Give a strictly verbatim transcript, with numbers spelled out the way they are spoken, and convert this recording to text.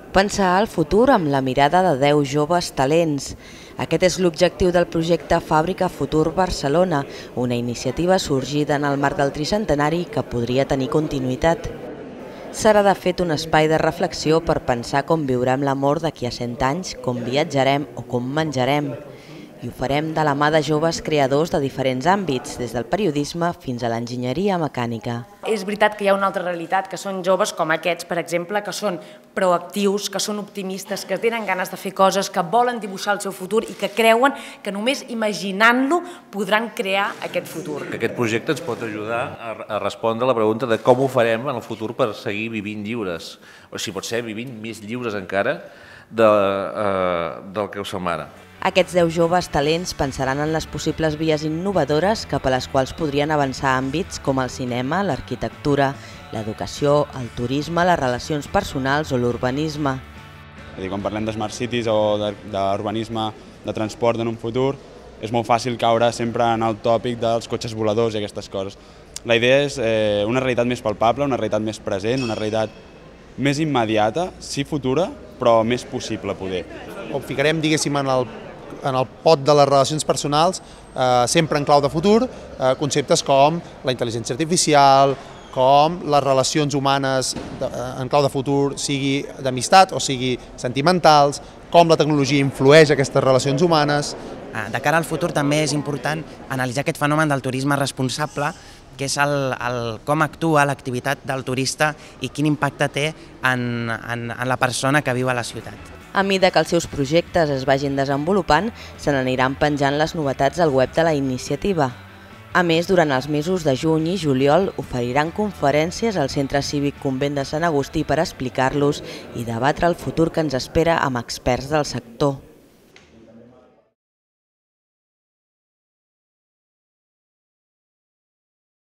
Pensar el futur amb la mirada de deu joves talents. Aquest és l'objectiu del projecte Fàbrica Futur Barcelona, una iniciativa sorgida en el marc del tricentenari que podria tenir continuïtat. Serà de fet un espai de reflexió per pensar com viurem l'amor d'aquí a cent anys, com viatjarem o com menjarem. I ho farem de la mà de joves creadors de diferents àmbits, des del periodisme fins a l'enginyeria mecànica. És veritat que hi ha una altra realitat, que són joves com aquests, per exemple, que són proactius, que són optimistes, que tenen ganes de fer coses, que volen dibuixar el seu futur i que creuen que només imaginant-lo podran crear aquest futur. Aquest projecte ens pot ajudar a respondre a la pregunta de com ho farem en el futur per seguir vivint lliures, o si pot ser vivint més lliures encara de, eh, del que ho som ara. Aquests deu joves talents pensaran en les possibles vies innovadores cap a les quals podrien avançar àmbits com el cinema, l'arquitectura, l'educació, el turisme, les relacions personals o l'urbanisme. Quan parlem de smart cities o d'urbanisme, de transport en un futur, és molt fàcil caure sempre en el tòpic dels cotxes voladors i aquestes coses. La idea és una realitat més palpable, una realitat més present, una realitat més immediata, sí futura, però més possible poder. Ho ficarem, diguéssim, en el en el pot de les relacions personals, eh, sempre en clau de futur, eh, conceptes com la intel·ligència artificial, com les relacions humanes de, en clau de futur, sigui d'amistat o sigui sentimentals, com la tecnologia influeix aquestes relacions humanes. De cara al futur també és important analitzar aquest fenomen del turisme responsable, que és el, el, com actua l'activitat del turista i quin impacte té en, en, en la persona que viu a la ciutat. A mesura que els seus projectes es vagin desenvolupant, se n'aniran penjant les novetats al web de la iniciativa. A més, durant els mesos de juny i juliol oferiran conferències al Centre Cívic Convent de Sant Agustí per explicar-los i debatre el futur que ens espera amb experts del sector.